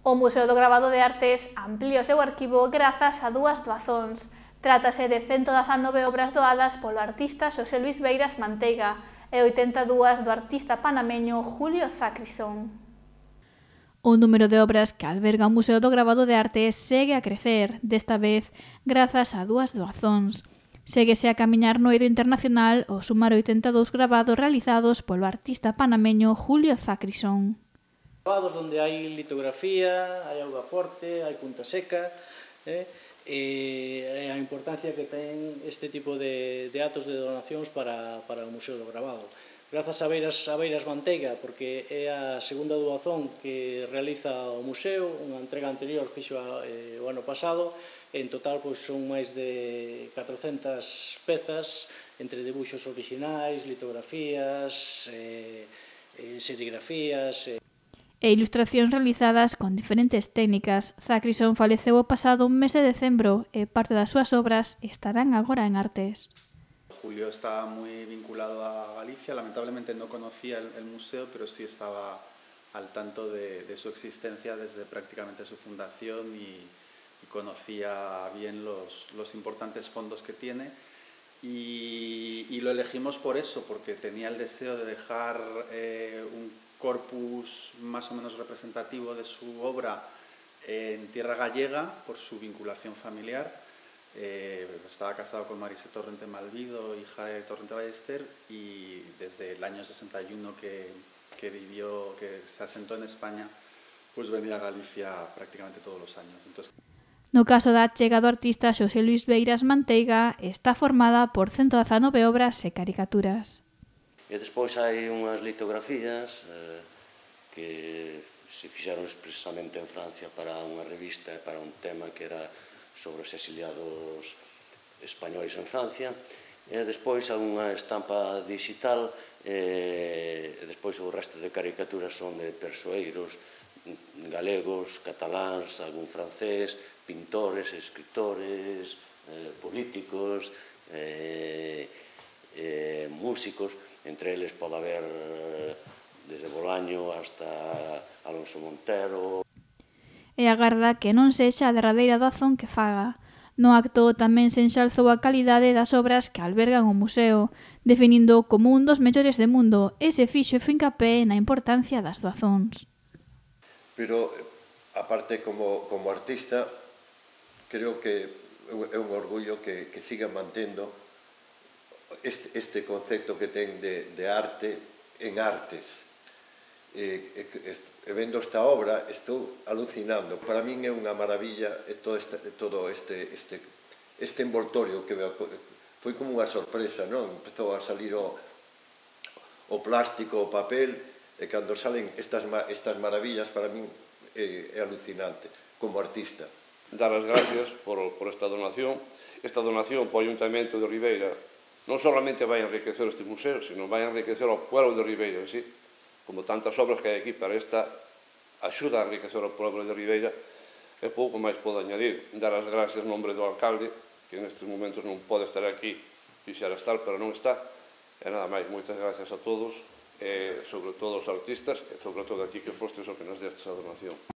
O Museo do Gravado de Artes amplía o seu arquivo grazas a dúas doazóns. Trátase de 119 obras doadas polo artista Xosé Luís Beiras Manteiga e 82 do artista panameño Julio Zacrison. O número de obras que alberga o Museo do Gravado de Arte segue a crecer, desta vez grazas a dúas doazóns. Séguese a camiñar no eido internacional ao sumar 82 gravados realizados polo artista panameño Julio Zacrison. Gravados onde hai litografía, hai auga forte, hai punta seca, e a importancia que ten este tipo de actos de donacións para o Museo do Gravado. Grazas a Beiras Manteiga, porque é a segunda doazón que realiza o museo, unha entrega anterior fixo o ano pasado, en total son máis de 400 pezas, entre debuxos orixinais, litografías, serigrafías... E ilustracións realizadas con diferentes técnicas. Zacrison faleceu o pasado mes de decembro e parte das súas obras estarán agora en Artes. Julio está muy vinculado a Galicia, lamentablemente no conocía el museo, pero sí estaba al tanto de su existencia desde prácticamente su fundación y conocía bien los importantes fondos que tiene y lo elegimos por eso, porque tenía el deseo de dejar un corpus más o menos representativo de su obra en tierra gallega por su vinculación familiar. Estaba casado con Marise Torrente Malvido, hija de Torrente Ballester, y desde el año 61 que se asentó en España, pues venía a Galicia prácticamente todos los años. Entonces... No caso da achega do artista Xosé Luís Beiras Manteiga, está formada por 119 obras e caricaturas. E despois hai unhas litografías que se fixeron expresamente en Francia para unha revista e para un tema que era sobre os exiliados españois en Francia, e despois hai unha estampa digital, e despois o resto de caricaturas son de persoeiros galegos, cataláns, algún francés, pintores, escritores, políticos, músicos, entre eles pode haber desde Bolaño hasta Alonso Montero. E agarda que non sexa a derradeira doazón que faga. No acto tamén se enxalzou a calidade das obras que albergan o museo, definindo como un dos mellores do mundo e se fixo fincapé na importancia das doazóns. Pero, aparte, como artista, creo que é un orgullo que siga mantendo este concepto que ten de arte en artes. E vendo esta obra estou alucinando. Para min é unha maravilla todo este envoltorio que foi como unha sorpresa, non? Empezou a salir o plástico, o papel, e cando salen estas maravillas para min é alucinante como artista. Dar as gracias por esta donación. Esta donación para o Ayuntamento de Ribeira non solamente vai enriquecer este museo, sino vai enriquecer ao pueblo de Ribeira, sí? Como tantas obras que hai aquí para esta axuda a enriquecer o pueblo de Ribeira, e pouco máis podo añadir. Dar as gracias en nombre do alcalde, que nestes momentos non pode estar aquí, quixera estar, pero non está, e nada máis, moitas gracias a todos, e sobre todo aos artistas, e sobre todo aquí que fostes o que nos destes a donación.